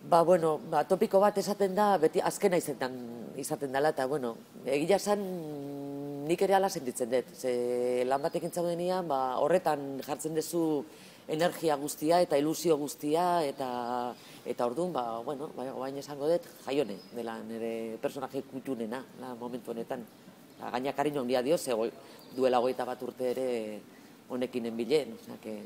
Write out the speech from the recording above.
Bueno, topiko bat esaten da, beti azkena izaten dela, eta, bueno, egia esan nik ere ala sentitzen dut. Ze lan batekin zaudenean, horretan jartzen duzu energia guztia eta ilusio guztia, eta orduan, bueno, baina esango dut, Jaione, dela nire personaje kutunena, momentu honetan. Gaina kariño handia dio, ze duela 21 urte ere honekin enbilen, osea,